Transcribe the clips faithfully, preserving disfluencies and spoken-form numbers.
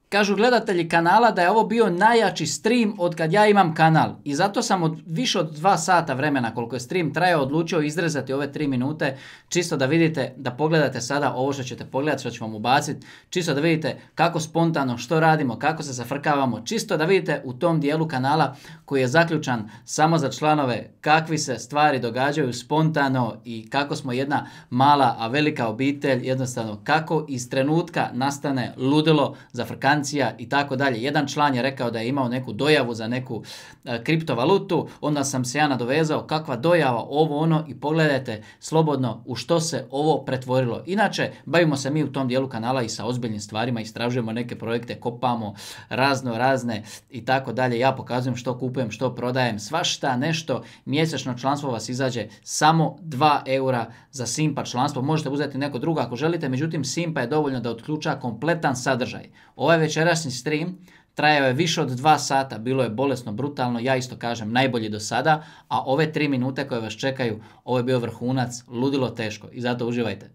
Kažu gledatelji kanala da je ovo bio najjači stream od kad ja imam kanal. I zato sam od više od dva sata vremena koliko je stream trajao odlučio izrezati ove tri minute. Čisto da vidite, da pogledate sada ovo što ćete pogledati, što ću vam ubaciti. Čisto da vidite kako spontano, što radimo, kako se zafrkavamo. Čisto da vidite u tom dijelu kanala koji je zaključan samo za članove kakvi se stvari događaju spontano i kako smo jedna mala, a velika obitelj. Jednostavno kako iz trenutka nastane ludilo, zafrkanje i tako dalje. Jedan član je rekao da je imao neku dojavu za neku e, kriptovalutu, onda sam se ja nadovezao kakva dojava, ovo ono i pogledajte slobodno u što se ovo pretvorilo. Inače, bavimo se mi u tom dijelu kanala i sa ozbiljnim stvarima, istražujemo neke projekte, kopamo razno razne i tako dalje. Ja pokazujem što kupujem, što prodajem, svašta nešto. Mjesečno članstvo vas izađe samo dva eura za Simpa članstvo. Možete uzeti neko drugo ako želite, međutim Simpa je dovoljno da otključa kompletan sadržaj. Ovaj večerašnji stream trajao je više od dva sata, bilo je bolesno, brutalno, ja isto kažem najbolji do sada, a ove tri minute koje vas čekaju, ovo je bio vrhunac, ludilo teško i zato uživajte.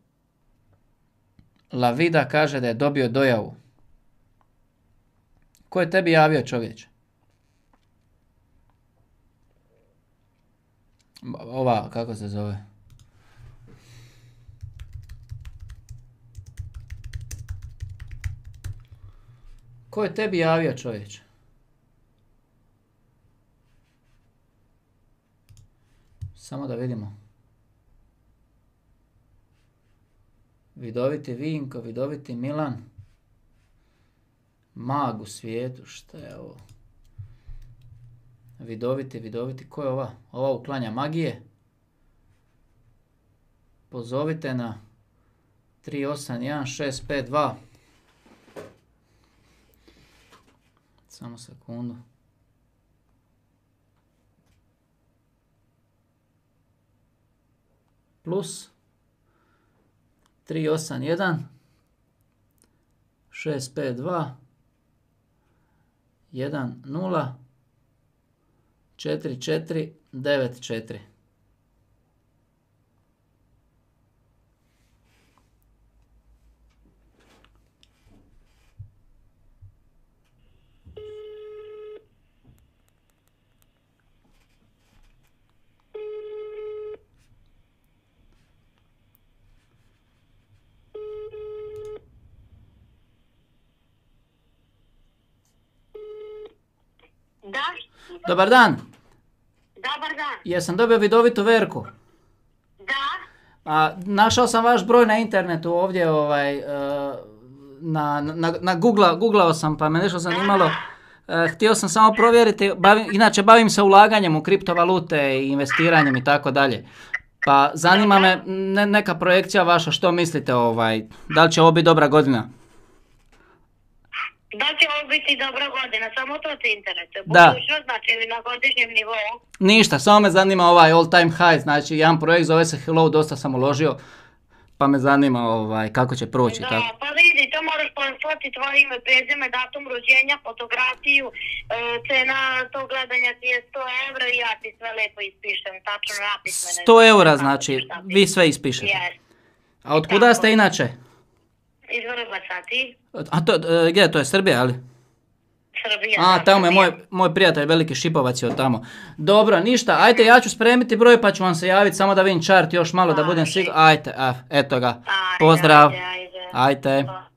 La Vida kaže da je dobio dojavu. Ko je tebi javio, čovječe? Ova, kako se zove? Ko je tebi javio, čovječe? Samo da vidimo. Vidoviti Vinko, vidoviti Milan. Mag u svijetu, šta je ovo? Vidoviti, vidoviti, ko je ova? Ova uklanja magije. Pozovite na tri osam jedan šest pet dva. Samo sekundu. Plus tri osam jedan šest pet dva jedan nula četiri četiri devet četiri. Da. Dobar dan. Dobar dan. Jesam dobio vidovitu Verku? Da. A, našao sam vaš broj na internetu ovdje, ovaj, uh, na, na, na Google, googlao sam pa me nešto zanimalo. Uh, htio sam samo provjeriti, bavim, inače bavim se ulaganjem u kriptovalute i investiranjem i tako dalje. Pa zanima me ne, neka projekcija vaša, što mislite, ovaj, da li će ovo biti dobra godina? Da će ovo biti dobra godina, samo to te interesuje. Da. Budućnost, znači na godišnjem nivou. Ništa, samo me zanima ovaj all time high, znači jedan projekt zove se Hello, dosta sam uložio, pa me zanima ovaj, kako će proći. Da, tako. pa vidi, to moraš poslati tvoje ime, prezime, datum rođenja, fotografiju, e, cena tog gledanja ti je sto evra i ja ti sve lepo ispišem, tačno napismene. sto eura znači, vi sve ispišete. Yes. A od kuda ste inače? Iz Vrbaca, ti? A to, e, gdje, to je Srbija, ali? Srbija. A, da, tamo je Srbija. moj, moj prijatelj, veliki Šipovac je od tamo. Dobro, ništa, ajte, ja ću spremiti broj pa ću vam se javiti, samo da vidim chart još malo da budem siguran. Ajte, a, eto ga, Ajde, pozdrav, ajde, ajde. ajte. Pa.